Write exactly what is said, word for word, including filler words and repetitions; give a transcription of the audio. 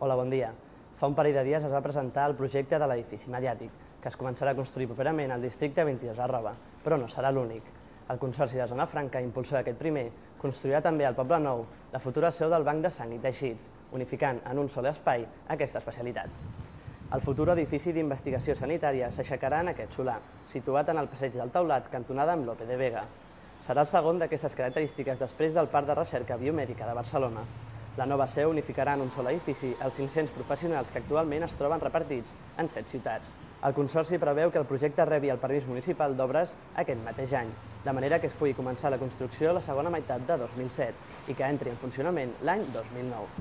Hola, bon dia. Fa un parell de dies es va presentar el projecte de l'edifici mediàtic, que es començarà a construir properament al districte vint-i-dos Arroba, però no serà l'únic. El Consorci de Zona Franca, impulsor d'aquest primer, construirà també al Poble Nou la futura seu del Banc de Sang i Teixits, unificant en un sol espai aquesta especialitat. El futur edifici d'investigació sanitària s'aixecarà en aquest solar, situat en el passeig del Taulat, cantonada amb Lope de Vega. Serà el segon d'aquestes característiques després del Parc de Recerca Biomèdica de Barcelona. La nova seu unificarà en un sol edifici els cinc-cents professionals que actualment es troben repartits en set ciutats. El Consorci preveu que el projecte rebi el permís municipal d'obres aquest mateix any, de manera que es pugui començar la construcció a la segona meitat de dos mil set i que entri en funcionament l'any dos mil nou.